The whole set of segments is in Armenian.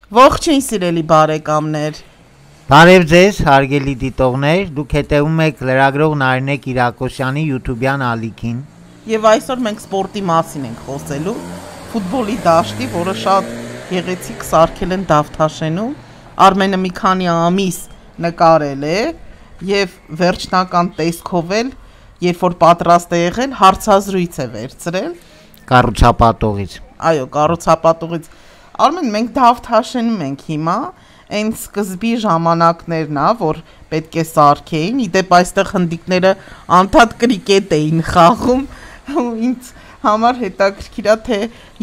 Ողջույն սիրելի բարեկամներ։ Բարև ձեզ, հարգելի դիտողներ, դուք հետևում եք լրագրող Նարինե Կիրակոսյանի YouTube-յան ալիքին։ Եվ այսօր մենք սպորտի մասին ենք խոսելու, ֆուտբոլի դաշտի, որը շատ գեղեցիկ սարքել են Դավթաշենում։ Արմենը մի քանի ամիս նկարել է եւ վերջնական տեսքով էլ, երբ որ պատրաստ է եղել, հարցազրույց է վերցրել Կառուցապատողից։ Այո, կառուցապատողից։ Արմեն, մենք Դավթաշենում ենք հիմա, այն սկզբի ժամանակներն է, որ պետք է սարքեին, իդեպ այստեղ հնդիկները անդադ կրիկետ էին խաղում, ինձ համար հետաքրքիր է, թե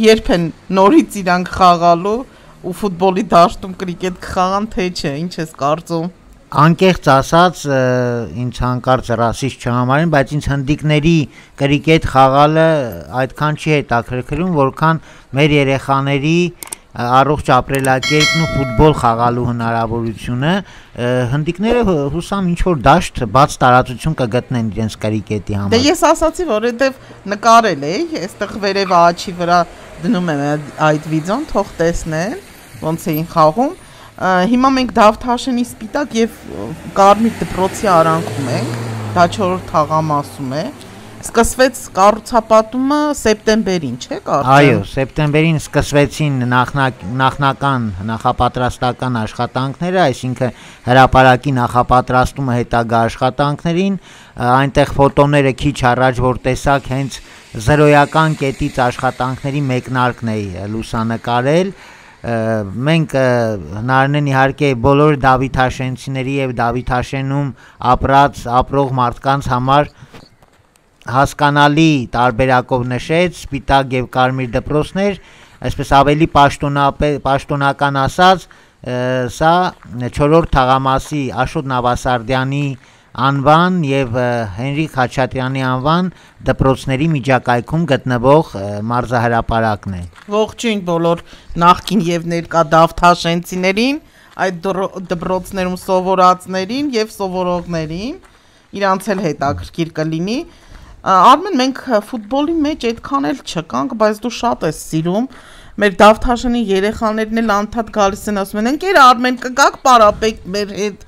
երբ են նորից իրանք խաղալու ու ֆուտբոլի դաշտում կրիկետ կխաղան, թե չէ, ինչ ես կարծում։ Անկեղծ ասած, ինձ հանկարծ ռասիստ չհամարին, բայց ինձ հնդիկների կրիկետ խաղալը այդքան չի հետաքրքրում, որքան մեր երեխաների առողջ ապրելակերպն ու ֆուտբոլ խաղալու հնարավորությունը, հնդիկները հուսամ ինչ-որ դաշտ բաց տարածություն կգտնեն իրենց կրիկետի համար։ Դե ես ասացի, որովհետև նկարել էի, այստեղ վերևը աչի վրա դնում եմ այդ վիդեոն, թող տեսնեն, ոնց էին խաղում։ Հիմա մենք Դավթաշենի սպիտակ եւ կարմիր դպրոցի արանքում ենք, դա 4-րդ թաղամասում է։ Սկսվեց կառուցապատումը սեպտեմբերին, չէ՞ կարծեմ։ Այո, սեպտեմբերին սկսվեցին նախնական նախապատրաստական աշխատանքները, այսինքն հրապարակի նախապատրաստումը հետագա աշխատանքներին, այնտեղ ֆոտոները քիչ առաջ որ տեսակ հենց զրոյական կետից աշխատանքների մեկնարկն է լուսանկարել։ Մենք հնարին իհարկե բոլոր Դավիթաշենցիների եւ Դավիթաշենում ապրող մարդկանց համար հասկանալի տարբերակով նշեց սպիտակ եւ կարմիր դպրոցներ, այսպես ավելի պաշտոնական ասած, սա 4-րդ թաղամասի Աշոտ Նավասարդյանի անվան եւ Հենրիկ Խաչատրյանի անվան դպրոցների միջակայքում գտնվող մարզահրապարակն է։ Ողջույն բոլոր նախկին եւ ներկա Դավթաշենցիներին, այդ դպրոցներում սովորածներին եւ սովորողներին, իրանց էլ հետաքրքիր կլինի։ Արմեն, մենք ֆուտբոլի մեջ այդքան էլ չկանք, բայց դու շատ ես սիրում։ Մեր Դավթաշենի երեխաներն էլ անդադ գալիս են ասում են, ընկեր Արմեն, կգաք պարապեք մեր հետ։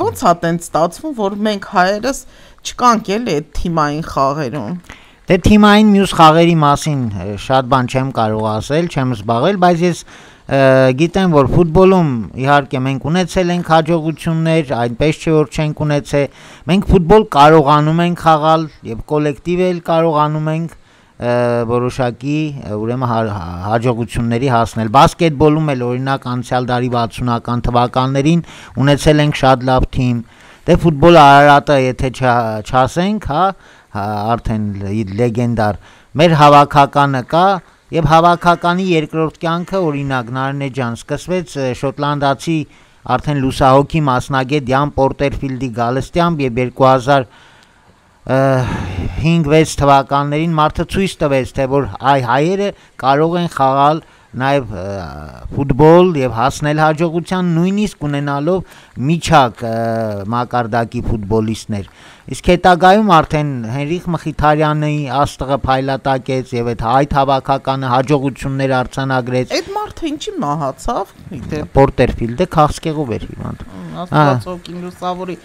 Ոնց է տենց ստացվում, որ մենք հայերս չկանք էլի այդ թիմային խաղերում։ Դե թիմային մյուս խաղերի մասին շատ բան չեմ կարող ասել, չեմ զբաղվել, բայց ես գիտեմ, որ ֆուտբոլում իհարկե մենք ունեցել ենք հաջողություններ, այնպես չէ որ չենք ունեցել։ Մենք ֆուտբոլ կարողանում ենք խաղալ եւ կոլեկտիվ էլ կարողանում ենք որոշակի ուրեմն հաջողությունների հասնել։ Բասկետբոլում էլ օրինակ անցյալ դարի 60-ական թվականներին ունեցել ենք շատ լավ թիմ։ Դե ֆուտբոլը Արարատը եթե չասենք, հա, արդեն լեգենդար մեր հավաքականը կա եւ հավաքականի երկրորդ կյանքը օրինակ Նարինե ջան սկսվեց շոտլանդացի արդեն լուսահոգի մասնագետ Յան Պորտերֆիլդի գալստյամբ եւ 2005-6 թվականներին մարդը ցույց տվեց թե որ հայերը կարող են խաղալ նաև ֆուտբոլ եւ հասնել հաջողության նույնիսկ ունենալով միջակ մակարդակի ֆուտբոլիստներ։ Իսկ հետագայում արդեն Հենրիկ Մխիթարյանի աստղը փայլատակեց եւ այդ հավաքականը հաջողություններ արձանագրեց։ Այդ մարդը ինչի մահացավ, գիտե։ Պորտերֆիլդը քաղցկեղով էր հիվանդ։ Աստվածօգին լուսավորի։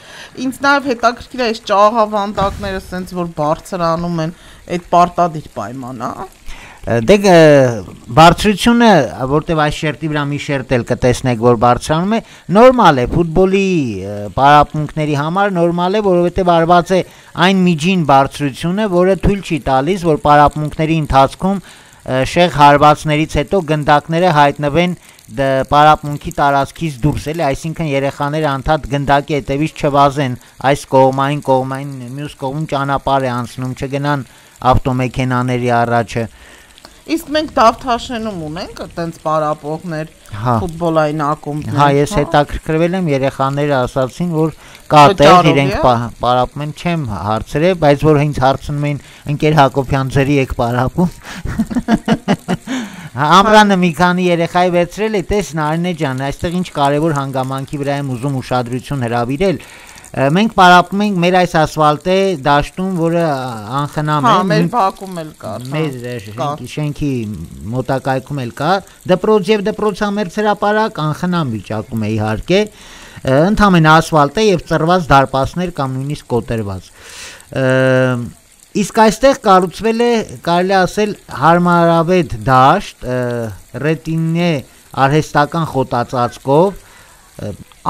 Ինձ նաև հետաքրքիր է այս ճաղավանդակները սենց որ բարձրանում են, այդ պարտադիր պայման է։ Դե բարձրությունը, որտեվ այս շերտի վրա մի շերտ էլ կտեսնեք, որ բարձրանում է, նորմալ է, ֆուտբոլի պարապմունքների համար նորմալ է, որովհետև արված է այն միջին բարձրությունը, որը թույլ չի տալիս, որ պարապմունքների ընթացքում շեղ հարվածներից հետո գնդակները հայտնվեն պարապմունքի տարածքից դուրս, էլի, այսինքն երեխաները անդադ գնդակի հետևից չվազեն, այս կողմային, մյուս կողմում ճանապարհ է անցնում, չգնան ավտոմեքենաների առաջը։ Իսկ մենք Դավթաշենում ունենք այդպես պարապողներ ֆուտբոլային ակումբներ։ Հա, ես հետաքրքրվել եմ, երեխաները ասացին, որ կա տեղ իրենք պարապում են, չեմ հարցրել, բայց որ ինձ հարցնում էին, ընկեր Հակոբյան ձերի եք պարապում։ Ամրանը մի քանի երեխայի վերցրել է, տես Նարինե ջան, այստեղ ինչ կարևոր հանգամանքի վրա եմ ուզում ուշադրություն հրավիրել։ Մենք պարապում ենք մեր այս ասֆալտե դաշտում, որը անխնամ է։ Հա, մեր Բաքվում էլ կար։ Մեր շենքի մոտակայքում էլ կա։ Դպրոց եւ դպրոցամերձ հրապարակ անխնամ վիճակում է իհարկե։ Ընդհանրապես ասֆալտ է եւ ծռված դարպասներ կամ նույնիսկ կոտրված։ Իսկ այստեղ կառուցվել է, կարելի ասել, հարմարավետ դաշտ, ռետինե արհեստական խոտածածկով։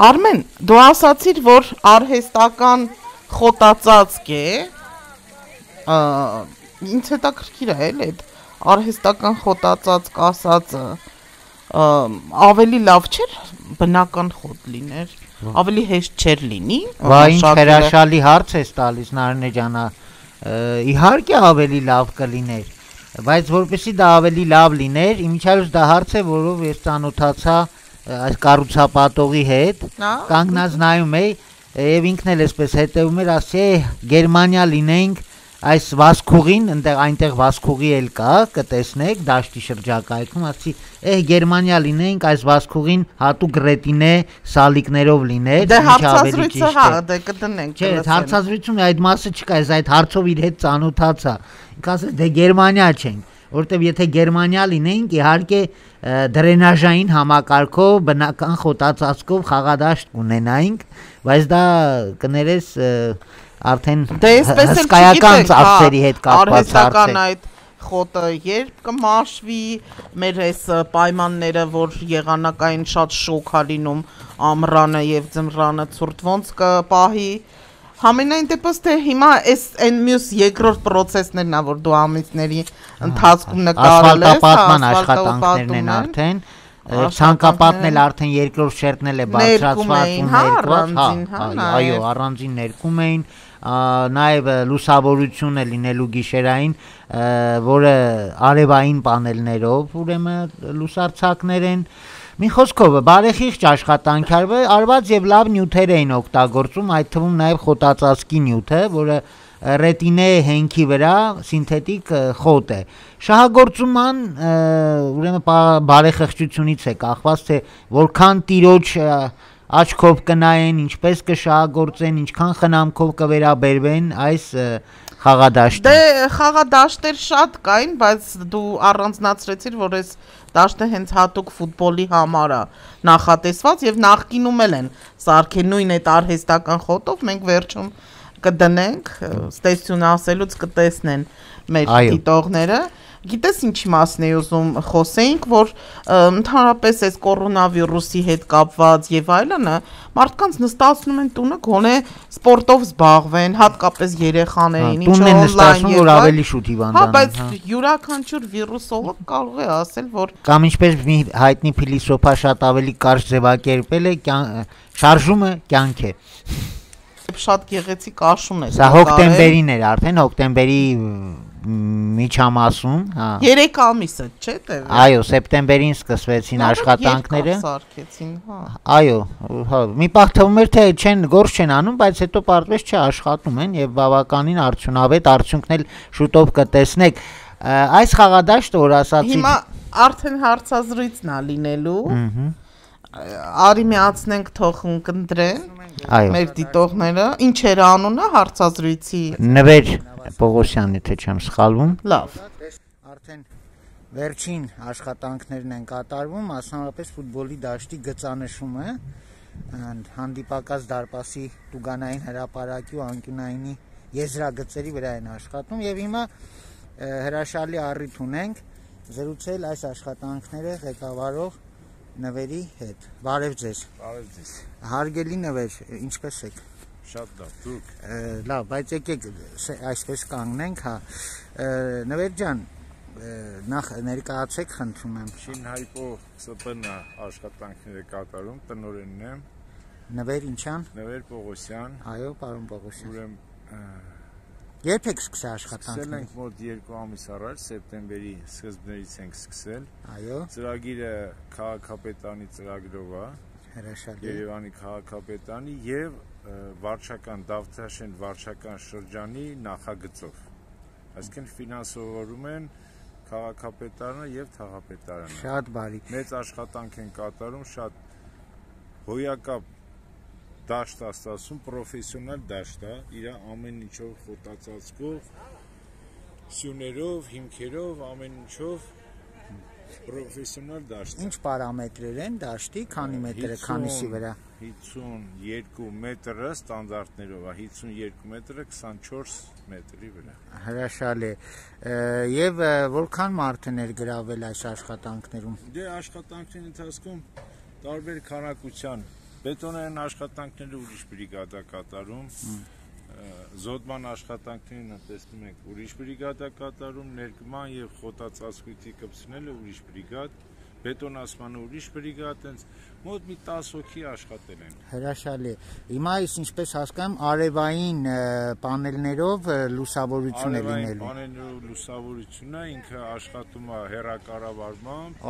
Արմեն, դու ասացիր, որ արհեստական խոտածածկ է, ինձ հետաքրքիր է էլ այդ արհեստական խոտածածկ ասածը, ավելի լավ չէր բնական խոտ լիներ, ավելի հեշտ չէր լինի։ Վայ, ինչ հրաշալի հարց ես տալիս, Նարինե ջան, իհարկե ավելի լավ կլիներ, բայց որպեսզի դա ավելի լավ լիներ, իմիջիայլոց դա հարց է, որով ես ծանոթացա այս կառուցապատողի հետ, կանգնած նայում էի եւ ինքն էլ էսպես հետեւում էր, ասի Գերմանիա լինենք այս Վասկուղին, այնտեղ Վասկուղի էլ կա, կտեսնեք դաշտի շրջակայքում, ասի Գերմանիա լինենք այս Վասկուղին հատուկ ռետինե սալիկներով լիներ, դե հարցազրույցը հա, դե կդնենք։ Չէ, հարցազրույցում այդ մասը չկա, այս հարցով իր հետ ծանոթացա։ Ինքը ասեց դե Գերմանիա չենք, որտեվ եթե Գերմանիա լինենք, իհարկե դրենաժային համակարգով բնական խոտածածկով խաղադաշտ կունենայինք, բայց դա կներես արդեն հսկայական ծախսերի հետ կապված հարց է։ Այդ խոտը երբ կմաշվի, մեր այս պայմանները, որ եղանակային շատ շոկ ա լինում ամռանը եւ ձմռանը ցուրտ ոնց կպահի։ Համենայն դեպս թե հիմա այս այն մյուս երկրորդ process-ներն ա, որ դու ամիսների ընթացքում նկարել ես, ասֆալտապատման աշխատանքներն են արդեն, ցանկապատն էլ արդեն երկրորդ շերտն էլ է բարձրացված ու այո, առանձին ներկում էին, նաև լուսավորություն է լինելու գիշերային, որը արևային պանելներով, ուրեմն լուսարձակներ են։ Մի խոսքով բարեխիղճ աշխատանք արված եւ լավ նյութեր էին օգտագործում, այդ թվում նաեւ խոտածածկի նյութը, որը ռետինե հենքի վրա սինթետիկ խոտ է։ Շահագործման ուրեմն բարեխղճությունից է կախված, թե որքան տիրոջ աչքով կնայեն, ինչպես կշահագործեն, ինչքան խնամքով կվերաբերվեն այս խաղադաշտին։ Դե խաղադաշտեր շատ կային, բայց դու առանձնացրեցիր, որ այս դաշտը հենց հատուկ ֆուտբոլի համար է նախատեսված եւ նախկինում էլ են սարքել նույն այդ արհեստական խոտով, մենք վերջում կդնենք, ստեսյուն ասելուց կտեսնեն մեր դիտողները։ Գիտես ինչի մասն էի ուզում խոսեինք, որ ընդհանրապես այս կորոնավիրուսի հետ կապված եւ այլնը մարդկանց նստացնում են տունը գոնե սպորտով զբաղվեն, հատկապես երեխաներին, ինչ օնլայն եւ որ ավելի շուտ հիվանդանան։ Հա, բայց յուրաքանչյուր վիրուսոլոգ կարող է ասել, որ կամ ինչպես մի հայտնի փիլիսոփա շատ ավելի կարճ ձևակերպել է, շարժումը կյանք է։ Շատ գեղեցիկ աշուն է։ Սա հոկտեմբերին էր արդեն, հոկտեմբերի միջամասում, հա։ 3 ամիսը, չէ՞ տևի։ Այո, սեպտեմբերին սկսվեցին աշխատանքները։ Սարքեցին, հա։ Այո, հա, մի պահ թվում էր թե գործ չեն անում, բայց հետո պարզվեց չէ, աշխատում են եւ բավականին արդյունավետ արդյունքն էլ շուտով կտեսնեք։ Այս խաղադաշտը, որ ասացի, հիմա արդեն հարցազրույցն է լինելու։ Արի միացնենք թող ընկնդրեն մեր դիտողները։ Ինչ էր անունը հարցազրույցի։ Նվեր Պողոսյան, եթե չեմ սխալվում։ Լավ։ Արդեն վերջին աշխատանքներն են կատարվում, մասնավորապես ֆուտբոլի դաշտի գծանշումը, հանդիպակաց դարպասի տուգանային հրապարակի ու անկյունայինի եզրագծերի վրա են աշխատում եւ հիմա հրաշալի առիթ ունենք զրուցել այս աշխատանքները ղեկավարող Նվերի հետ։ Բարև ձեզ։ Բարև ձեզ։ Հարգելի Նվեր, ինչպես եք։ Շատ լավ, դուք։ Լավ, բայց եկեք այսպես կանգնենք, հա։ Նվեր ջան, նախ ներկայացեք, խնդրում եմ։ Շինհայպո ՍՊՆ աշխատանքները կատարում, տնօրենն եմ։ Նվեր ինչան։ Նվեր Պողոսյան։ Այո, պարոն Պողոսյան։ Ուրեմն երբ եք սկսել աշխատանքները։ Սկսել ենք մոտ 2 ամիս առաջ, սեպտեմբերի սկզբներից ենք սկսել։ Այո։ Ծրագիրը քաղաքապետարանի ծրագրով է։ Հրաշալի։ Երևանի քաղաքապետարանի եւ վարչական Դավթաշեն վարչական շրջանի նախագծով։ Այսինքն ֆինանսավորում են քաղաքապետարանը եւ թաղապետարանը։ Շատ բարի։ Մեծ աշխատանք են կատարում, շատ հոյակապ դաշտ է ստացվում, պրոֆեսիոնալ դաշտ է, իր ամեն ինչով խոտածածկով, սյուներով, հիմքերով, ամեն ինչով պրոֆեսիոնալ դաշտ։ Ինչ պարամետրեր են դաշտի, քանի մետր է, քանիսի վրա։ 52 մետրը ստանդարտներով է, 52 մետրը 24 մետրի վրա։ Հրաշալի է։ Եվ որքան մարդ է ներգրավել այս աշխատանքներում։ Դե աշխատանքների ընթացքում տարբեր քանակության բետոնային աշխատանքները ուրիշ բրիգադա կատարում, զոդման աշխատանքներին տեսնում ենք ուրիշ բրիգադա կատարում, ներկման եւ խոտածածկույթի կպցնելը ուրիշ բրիգադ, բետոնացմանը ուրիշ բրիգադ, այնց մոտ մի 10 հոգի աշխատել են։ Հրաշալի։ Հիմա այս ինչպես հասկանում, արևային պանելներով լուսավորություն է լինելու։ Պանելներով լուսավորությունը ինքը աշխատում է հեռակառավարմամբ,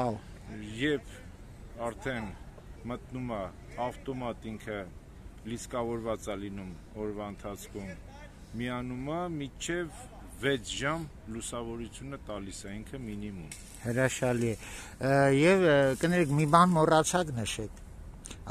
երբ արդեն մտնում է ավտոմատ ինքը լիսկավորված է լինում օրվա ընթացքում, միանում է մինչև 6 ժամ լուսավորությունը տալիս է ինքը մինիմում։ Հրաշալի է։ Եվ կներեք մի բան մոռացաք նշեք։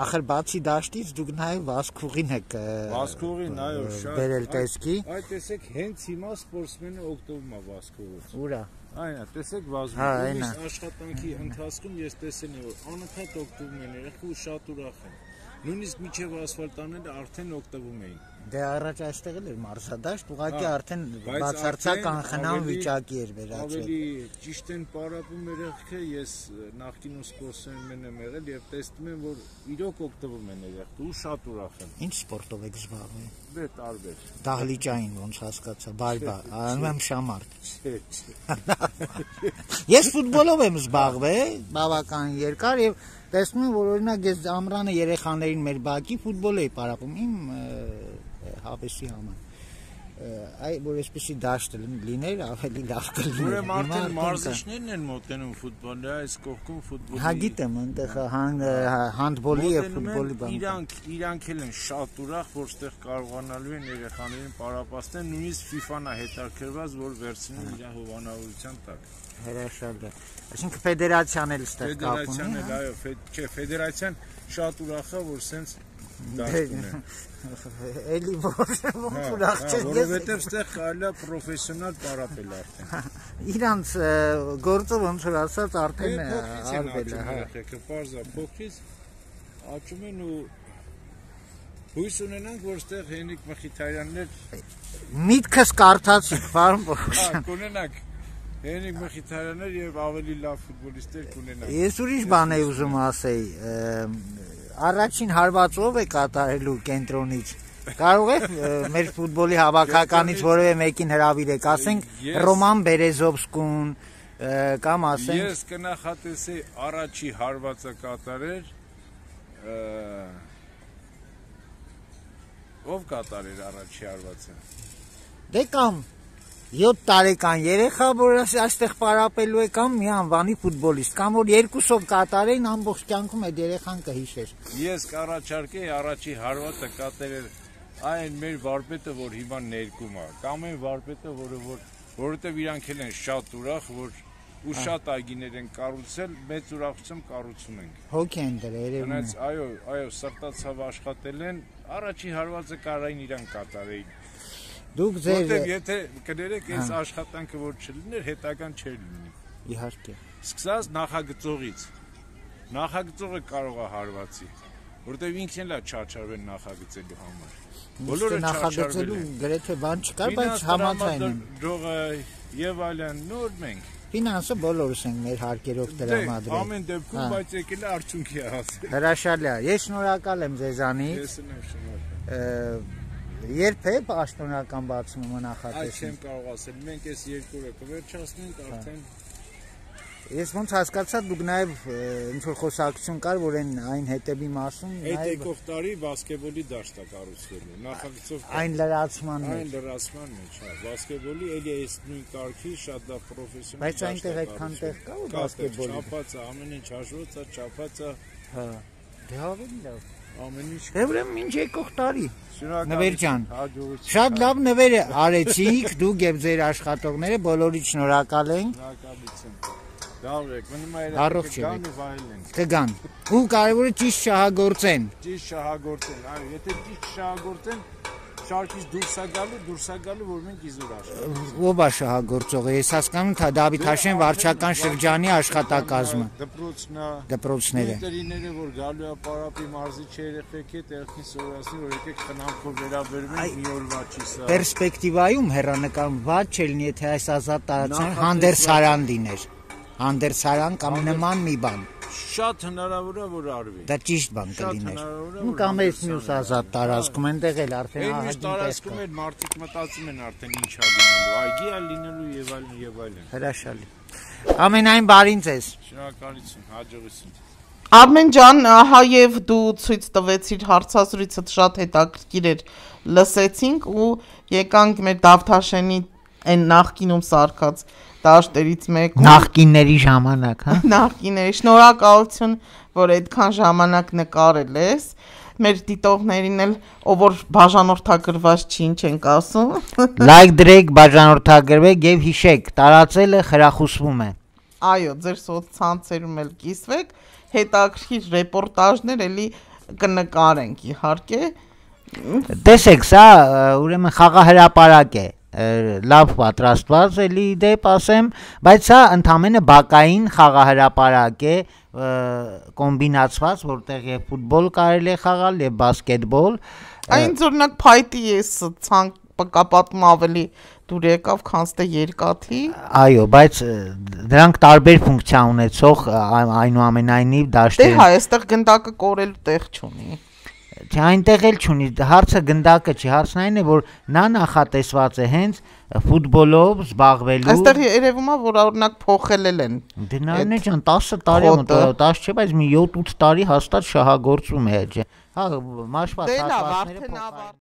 Ախր բացի դաշտից դուք նաև վազքուղին եք Վազքուղին, այո, շատ բերել տեսքի։ Այդ տեսեք հենց հիմա սպորտսմենը օգտվում է վազքուղից։ Ուրա։ Այն է, տեսեք վազում։ Աշխատանքի ընթացքում ես տեսել եմ, որ անընդհատ օգտվում են երեխու շատ ուրախ են։ Նույնիսկ միջև ասֆալտանները արդեն օգտվում էին։ Դե առաջ այստեղ էլ էր մարզադաշտ, ուղղակի արդեն բացարձակ անխնամ վիճակի էր վերածվել։ Ավելի ճիշտ են պարապում երեխքը, ես նախկինում սպորտսմեն եմ եղել եւ տեսնում եմ, որ իրոք օգտվում են երեխու, շատ ուրախ են։ Ինչ սպորտով եք զբաղվում։ Դե տարբեր։ Դահլիճային ոնց հասկացա, բայբա, անում եմ շամարդ։ Ես ֆուտբոլով եմ զբաղվել, բավական երկար եւ տեսնում եմ, որ օրինակ ես ամռանը երեխաներին մեր բակի ֆուտբոլ էի պարապում իմ հավեսի համար։ Այ որ այսպեսի դաշտ լիներ, ավելի լավ կլիներ։ Ուրեմն արդեն մարզիչներն են մոտենում ֆուտբոլի, այս կողքում ֆուտբոլի։ Հա գիտեմ, այնտեղ հանդբոլի եւ ֆուտբոլի բան։ Իրանք էլ են շատ ուրախ, որ ստեղ կարողանալու են երեխաներին պարապացնել, նույնիսկ FIFA-ն է հետաքրքրված, որ վերցնեն իր հովանավորության տակ։ Հրաշալի է։ Այսինքն ֆեդերացիան էլ ստեղ կապ ունի։ Ֆեդերացիան էլ, այո, չէ, ֆեդերացիան շատ ուրախ է, որ սենց դաշտ ունի։ Էլի ուրախ չէ, որովհետև ստեղ կարելի է պրոֆեսիոնալ պարապել արդեն։ Իրանց գործը ոնց որ ասած արդեն արվել է, հա։ Եկեք պարզա փոքրից աճում են ու հույս ունենանք, որ ստեղ Հենրիկ Մխիթարյաններ միտքս կարդացիք, պարոն Պողոսյան։ Հա, կունենանք Հենրիկ Մխիթարյաններ եւ ավելի լավ ֆուտբոլիստներ կունենանք։ Ես ուրիշ բան եմ ուզում ասեի, առաջին հարվածով է կատարելու կենտրոնից։ Կարող եք մեր ֆուտբոլի հավաքականից որևէ մեկին հրավիրեք, ասենք Ռոման Բերեզովսկուն կամ ասենք Ես կնախատեսեի առաջի հարվածը կատարեր ով կատարեր առաջի հարվածը։ Դե կամ 7 տարեկան երեխա, որ այստեղ պարապելու է կամ մի անվանի ֆուտբոլիստ, կամ որ երկուսով կատարեին ամբողջ կյանքում այդ երեխան կհիշեր։ Ես կառաջարկեի առաջի հարվածը կատարել այն մեր վարպետը, որ հիմա ներկում է, կամ այն վարպետը, որովհետև իրանք էլ են շատ ուրախ, որ ու շատ այգիներ են կառուցել, մեծ ուրախությամբ կառուցում ենք։ Հոգի են դրել, երևում է։ Այո, սրտացավ աշխատել են, առաջի հարվածը կարային իրանք կատարեին։ Դուք ձեր Որտեւ եթե կներեք այս աշխատանքը որ չլիներ, հետական չէր լինի։ Իհարկե։ Սկսած նախագծողից։ Նախագծողը կարող է հարվածի, որտեւ ինքն էլ է չարչարվել նախագծելու համար։ Բոլորը նախագծելու գրեթե բան չկար, բայց համաձայն եմ։ Դողը եւ այլն նոր մենք։ Ֆինանսը բոլորս ենք մեր հարկերով տրամադրել։ Ամեն դեպքում, բայց եկել է արդյունքի հասել։ Հրաշալի է։ Ես շնորհակալ եմ ձեզանից։ Ես եմ շնորհակալ։ Երբ է պաշտոնական բացումը նախատեսվում։ Այդ չեմ կարող ասել։ Մենք այս երկու օրը կվերջացնենք արդեն։ Ես ոնց հասկացա, դուք նաև ինչ որ խոսակցություն կար, որ այն հետևի մասում այդ եկող տարի բասկետբոլի դաշտ է կառուցվելու։ Նախագծով այն լրացման մեջ։ Այն լրացման մեջ, հա, բասկետբոլի էլի այս նույն կարգի շատ լավ պրոֆեսիոնալ։ Բայց այնտեղ այդքան տեղ կա ու բասկետբոլի։ Չափած է, ամեն ինչ հաշվված է, չափած է։ Հա։ Դե ավելի լավ։ Ամեն ինչ։ Դե ուրեմն ինչ եկող տարի։ Շնորհակալ։ Նվեր ջան։ Հաջողություն։ Շատ լավ նվեր արեցիք, դուք եւ ձեր աշխատողները բոլորիդ շնորհակալ ենք։ Շնորհակալություն։ Դավրեք, մնում է Առողջ երեխեքը եղեք։ գան ու վայել են։ Կգան։ Ու կարևորը ճիշտ շահագործեն։ Ճիշտ շահագործեն, այո, եթե ճիշտ շահագործեն, շարքից դուրս է գալու, որ մենք իզուր աշխատենք։ Ով է շահագործողը։ Ես հասկանում եմ Դավիթ Հաշեն վարչական շրջանի աշխատակազմը։ Դպրոցները։ Ընկերիները, որ գալու է Պարապի մարզիչի երեխեք հետ, երեխին սովորացնի, որ եկեք խնամքով վերաբերվենք մի օրվա չի սա։ Պերսպեկտիվայում հեռանկարում ված չելնի, եթե այս ազատ տարածան հանդերձարան դիներ։ Հանդերձարան կամ նման մի բան։ Շատ հնարավոր է որ արվի։ Դա ճիշտ բան կլիներ։ հնարավոր է, Ու կամ այս մյուս ազատ տարածքում այնտեղ էլ արդեն Այն մյուս ահագին տեսք տարածքում կա։ էլ մարդիկ մտածում են արդեն ինչ ա լինելու, այգի ա լինելու եւ այլն եւ այլն։ Հրաշալի։ Ամենայն բարին ձեզ։ Շնորհակալություն, հաջողություն։ Արմեն ջան, ահա եւ դու ցույց տվեցիր հարցազրույցը շատ հետաքրքիր էր, լսեցինք ու եկանք մեր Դավթաշենի այն նախկինում սարքած դաշտերից մեկում։ Նախկինների ժամանակ, հա։ Նախկիների շնորհակալություն, որ այդքան ժամանակ նկարել ես։ Մեր դիտողներին էլ, ով որ բաժանորդագրված չի, ինչ ենք ասում։ Լայք դրեք, բաժանորդագրվեք եւ հիշեք, տարածելը խրախուսվում է։ Այո, ձեր սոցցանցերում էլ կիսվեք, հետաքրքիր ռեպորտաժներ էլի կնկարենք իհարկե։ Տեսեք, սա ուրեմն խաղահրապարակ է, լավ պատրաստված էլի դեպ ասեմ, բայց սա ընդամենը բակային խաղահրապարակ է, կոմբինացված, որտեղ եւ ֆուտբոլ կարելի է խաղալ եւ բասկետբոլ։ Այն օրինակ փայտի ես ցանկապատում ավելի դուր եկավ, քան ստե երկաթի։ Այո, բայց դրանք տարբեր ֆունկցիա ունեցող այնուամենայնիվ Դե դաշտեր։ հա, այստեղ գնդակը կորելու տեղ չունի։ Չէ, այնտեղ էլ չունի, հարցը գնդակը չի, հարցն այն է, որ նա նախատեսված է հենց ֆուտբոլով զբաղվելու։ Այստեղ երևում է, որ օրինակ փոխել են։ Դե նայնե ջան, 10 տարի մոտ, 10 չէ, բայց մի 7-8 տարի հաստատ շահագործում է, ջե։ Հա, մաշված Դե լավ, հատվածները արդեն ավարտել